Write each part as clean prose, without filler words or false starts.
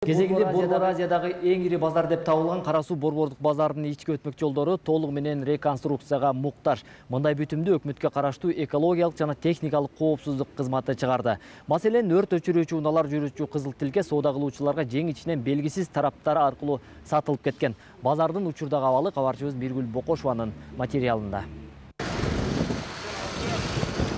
Кезегинде Борбор Азиядагы эң ири базар деп табылган Кара Суу Борбордук базарынын ички өтмөк жолдору толугу менен реконструкцияга муктаж. Мындай бүтүмдү өкмөткө караштуу экологиялык жана техникалык коопсуздук кызматы чыгарды. Маселен, өрт өчүрүүчү унаалар жүрүүчү кызыл тилке соода кылуучуларга жең ичинен белгисиз тараптары аркылуу сатылып кеткен. Базардын учурдагы абалы кабарчыбыз Миргүл Бокошованын материалында.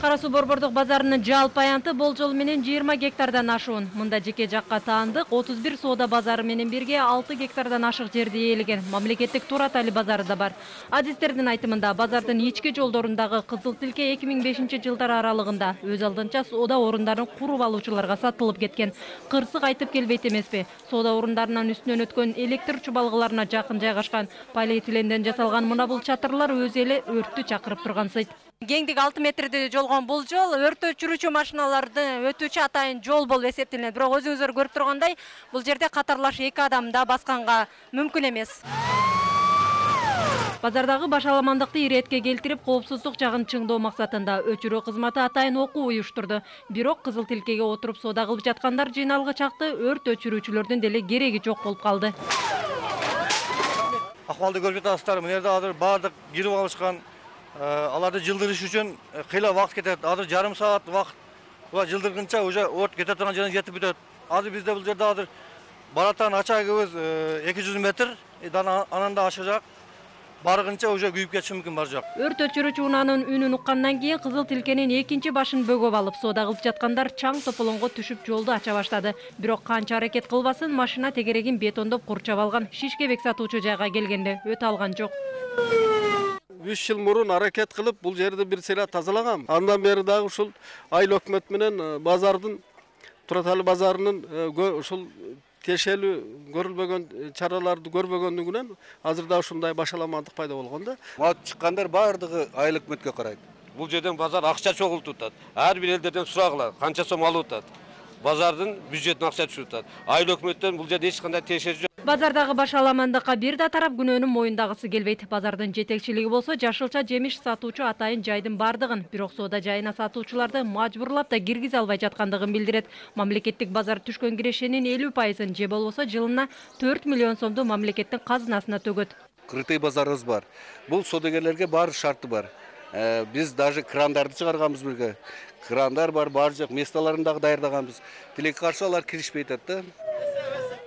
Кара Суу Борбордук базарынын жалпы аянты болжол менен 20 гектардан ашуун. Мында жеке жакка таандык 31 соода базары менен бирге 6 гектардан ашык жерди ээлеген мамлекеттик Туратали базары да бар. Адистердин айтымында базардын ички жолдорундагы кызыл тилке 2005-жылдар аралыгында өз алдынча соода орундарын куруп алуучуларга сатылып кеткен. Кырсык айтып келбейт эмеспи? Соода орундарынын үстүнөн өткөн электр чубалгыларына жакын жайгашкан полиэтиленден жасалган мына бул чатырлар өзү эле өрттү чакырып тургансыйт. Кеңдиги 6 метрди жолгон бул жол өрт өчүрүүчү машиналардын өтүүчү атайын жол болуп эсептелет. Бирок өзүңүздөр көрүп тургандай, бул жерде катарлаш 2 адам да басканга мүмкүн эмес. Базардагы башаламандыкты иретке келтирип, коопсуздук жагын чыңдоо максатында өчүрүү кызматы атайын окуу уюштурду. Бирок кызыл тилкеге отуруп соода кылып жаткандар жыйналгы чакты өрт өчүрүүчүлөрдүн деле кереги жок болуп калды. Акыбалды көрүп жатасыздар, мына жерде азыр баардык кирип алышкан. Аларды жылдырыш үчүн кыйла вакыт кетет. Азыр жарым саат вакыт. Буга жылдыргынча уже от кете турган жерге жетип бүтөт. Азыр бизде бул жерде азыр баратан ачагыбыз 200 метр, анан да ашыгак. Баргынча уже күйүп кетиши мүмкүн бар жак. Өрт өчүрүүчү унаанын үнүн уккандан кийин кызыл тилкенин экинчи башын бөгөп алып, соода кылып жаткандар чаң тополоңго түшүп жолду ача баштады. Бирок канча аракет кылбасын, машина тегерегин бетондоп курчап алган. Шишкебек сатуучу жайга келгенде өтө алган жок. 3 жыл мурун аракет кылып бул жерди бир сыйра тазалагам. Андан бери дагы ушул айыл өкмөт менен базардын Туратали базарынын ушул тиешелүү көрүлбөгөн чараларды көрбөгөндүгүнөн азыр да ушундай башаламандык пайда болгон да. Мал чыккандар баардыгы айыл өкмөткө карайт. Бул жерден базар акча чогултуп атат. Ар бир элдерден сурагыла, канча сом алып атат. Базардын бюджетине акча түшүп атат. Айыл өкмөттөн бул жерде эч кандай тиешеси жок. Базардагы башаламандыкка бир да тарап күнөөнүн моюндагысы келбейт. Базардын жетекчилиги болсо жашылча жемиш сатуучу атайын жайдын бардыгын, бирок соода жайына сатуучуларды мажбурлап да киргизе албай жаткандыгын билдирет. Мамлекеттик базар түшкөн кирешенин 50%-ын же болбосо жылына 4 миллион сомду мамлекеттин казынасына төгөт. Крытый базарыбыз бар. Бул соодагерлерге баары шарты бар. Биз даже крандарды чыгарганбыз бирге. Крандар бар, баары жок местолорун дагы даярдаганбыз. Тилекке каршы алар киришпей атат да.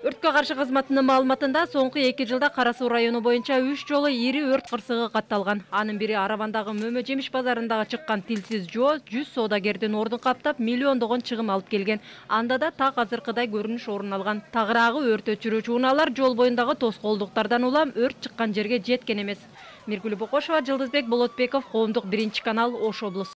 Өрткө каршы кызматынын маалыматында соңку 2 жылда Кара Суу району боюнча 3 жолу ири өрт кырсыгы катталган. Анын бири Аравандагы Мөмө жемиш базарындагы чыккан тилсиз жоо 100 соодагердин ордун каптап миллиондогон чыгым алып келген. Анда да так азыркыдай көрүнүш орун алган. Тагыраагы өрт өчүрүүчү унаалар жол боюндагы тоскоолдуктардан улам өрт чыккан жерге жеткен эмес. Миргүл Бокошова, Жылдызбек Болотбеков, Коомдук 1-канал, Ош облусу.